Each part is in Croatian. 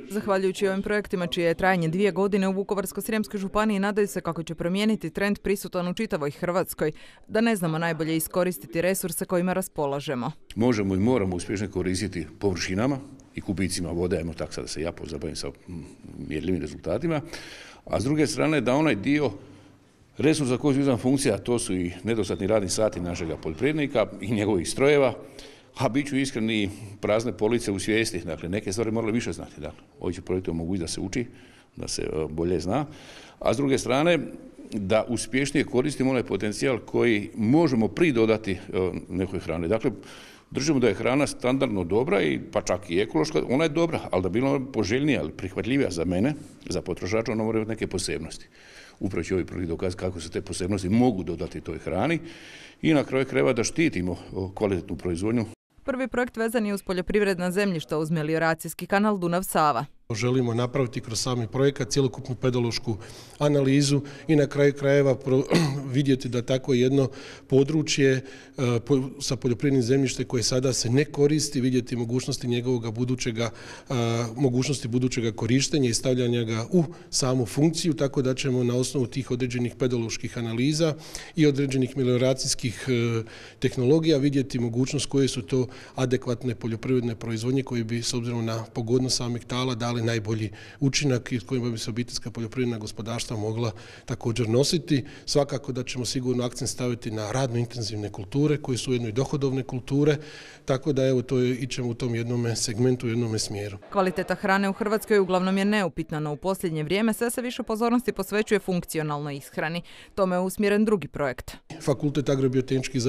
Zahvaljujući ovim projektima čije je trajanje 2 godine u Vukovarsko-srijemskoj županiji nadaju se kako će promijeniti trend prisutan u čitavoj Hrvatskoj, da ne znamo najbolje iskoristiti resurse kojima raspolažemo. Možemo i moramo uspješno koristiti površinama i kubicima vode, ajmo tako sad da se ja pozabavim sa mjerljivim rezultatima, a s druge strane da onaj dio resursa koji su izvan funkcija, to su i nedostatni radni sati našega poljoprivrednika i njegovih strojeva, a bit ću iskreni, prazne police u svijesti. Dakle, neke stvari morali više znati. Dakle, ovi će projekti omogućiti da se uči, da se bolje zna. A s druge strane, da uspješnije koristimo onaj potencijal koji možemo pridodati nekoj hrani. Dakle, držimo da je hrana standardno dobra i pa čak i ekološka, ona je dobra, ali da bila poželjnija ali prihvatljivija za mene, za potrošača, ona mora imati neke posebnosti. Upravo će ovi projekt dokazati kako se te posebnosti mogu dodati toj hrani i na kraju krajeva da štitimo kvalitetnu proizvodnju. Prvi projekt vezan je uz poljoprivredna zemljišta uz melioracijski kanal Dunav-Sava. Želimo napraviti kroz sami projekat cjelokupnu pedološku analizu i na kraju krajeva vidjeti da tako jedno područje sa poljoprivrednim zemljištem koje sada se ne koristi, vidjeti mogućnosti njegovog budućega korištenja i stavljanja ga u samu funkciju, tako da ćemo na osnovu tih određenih pedoloških analiza i određenih melioracijskih tehnologija vidjeti mogućnost koje su to adekvatne poljoprivredne proizvodnje koje bi s obzirom na pogodnost samih tala dali najbolji učinak i s kojima bi se obiteljska poljoprivredna gospodarstva mogla također nositi. Svakako da ćemo sigurno akcent staviti na radno intenzivne kulture koje su ujedno i dohodovne kulture, tako da evo to ićemo u tom jednom segmentu, u jednom smjeru. Kvaliteta hrane u Hrvatskoj uglavnom je neupitna, no u posljednje vrijeme sve se više pozornosti posvećuje funkcionalnoj ishrani. Tome je usmjeren drugi projekt. Fakultet agrobiotehničkih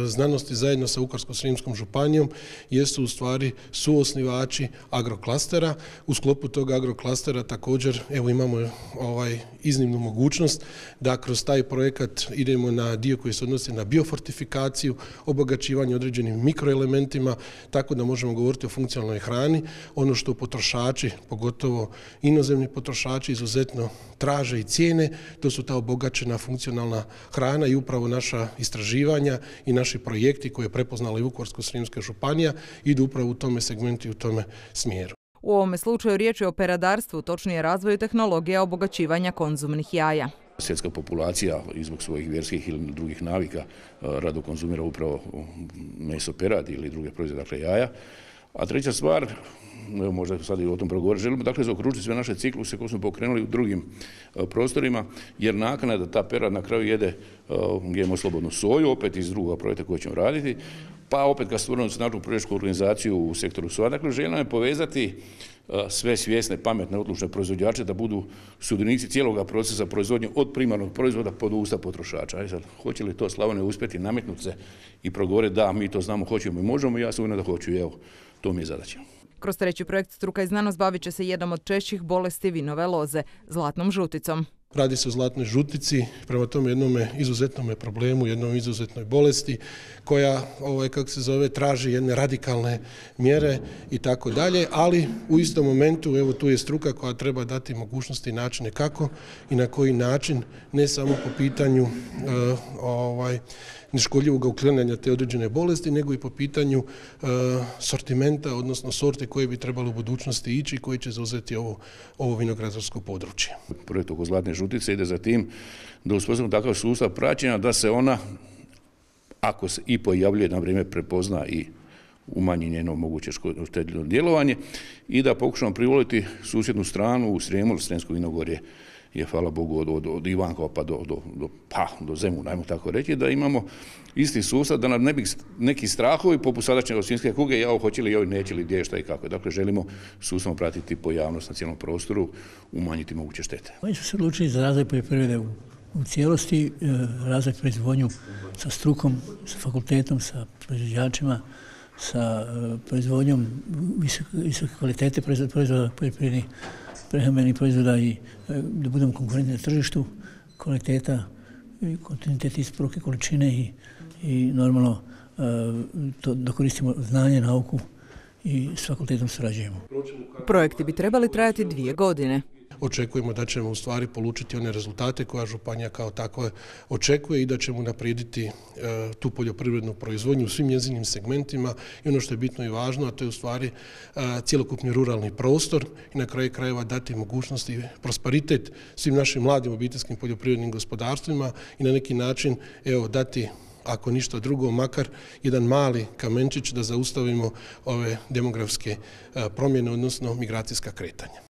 znanosti zajedno sa Vukovarsko-srijemskom županijom jesu u stvari suosnivači agroklastera. U sklopu tog agroklastera također evo imamo iznimnu mogućnost da kroz taj projekat idemo na dio koji se odnosi na biofortifikaciju, obogaćivanje određenim mikroelementima, tako da možemo govoriti o funkcionalnoj hrani. Ono što potrošači, pogotovo inozemni potrošači, izuzetno traže i cijene, to su ta obogaćena funkcionalna hrana i upravo naša istraživanja i naši projekti koje je prepoznala i Vukovarsko-srijemska županija idu upravo u tome segmentu i u tome smjeru. U ovome slučaju riječ je o peradarstvu, točnije razvoju tehnologija obogaćivanja konzumnih jaja. Svjetska populacija zbog svojih vjerskih ili drugih navika rado konzumira upravo meso peradi ili druge proizvode, dakle jaja. A treća stvar, evo možda sad i o tom progovoriti, želimo dakle zaokružiti sve naše cikluse koje smo pokrenuli u drugim prostorima, jer nakana je da ta perad na kraju jede GMO slobodnu soju, opet iz drugog projekta koji ćemo raditi, pa opet kad stvorimo snažnu proizvođačku organizaciju u sektoru soja. Dakle, željeno je povezati sve svjesne, pametne, odlučne proizvođače da budu sudionici cijelog procesa proizvodnje od primarnog proizvoda pod usta potrošača. Sad, hoće li to Slavonija uspjeti nametnuti se i progovoriti da mi to znamo, hoćemo i možemo, ja sam uvjeren da hoću i evo, to mi je zadaća. Kroz treći projekt Struka i znanost bavit će se jednom od češćih bolesti vinove loze, zlatnom žuticom. Radi se o zlatnoj žutici, prema tome jednom izuzetnom problemu, jednom izuzetnoj bolesti koja, traži jedne radikalne mjere i tako dalje, ali u istom momentu, evo tu je struka koja treba dati mogućnosti i načine kako i na koji način, ne samo po pitanju neškodljivog uklanjanja te određene bolesti, nego i po pitanju sortimenta, odnosno sorte koje bi trebalo u budućnosti ići i koji će zauzeti ovo vinogradarsko područje. Projekt oko zlatne žutice ide za tim da uspostavimo takav sustav praćenja da se ona, ako se i pojavljuje na vrijeme, prepozna i umanji njeno moguće štetno djelovanje i da pokušamo privoliti susjednu stranu u Srijemu, Srijemsko vinogorje je, hvala Bogu, od Ivankova pa do Zemuna, ajmo tako reći, da imamo isti sustav, da nam ne bi neki strahovi poput sadašnje svinjske kuge, hoće li, neće li, gdje, šta i kako. Dakle, želimo sustavno pratiti pojavnost na cijelom prostoru, umanjiti moguće štete. Oni su se odlučili za razvoj poljoprivrede u cijelosti, razvoj proizvodnju sa strukom, sa fakultetom, sa proizvođačima, sa proizvodnjom visoke kvalitete proizvoda poljoprivrednih prehrambenih proizvoda i da budemo konkurentni na tržištu, kvaliteta, kontinuitet isporuke, količine i normalno da koristimo znanje, nauku i s fakultetom surađujemo. Projekti bi trebali trajati 2 godine. očekujemo da ćemo u stvari polučiti one rezultate koja županija kao takva očekuje i da ćemo naprijediti tu poljoprivrednu proizvodnju u svim njezinim segmentima i ono što je bitno i važno, a to je u stvari cjelokupni ruralni prostor i na kraju krajeva dati mogućnosti i prosperitet svim našim mladim obiteljskim poljoprivrednim gospodarstvima i na neki način dati, ako ništa drugo, makar jedan mali kamenčić da zaustavimo ove demografske promjene, odnosno migracijska kretanja.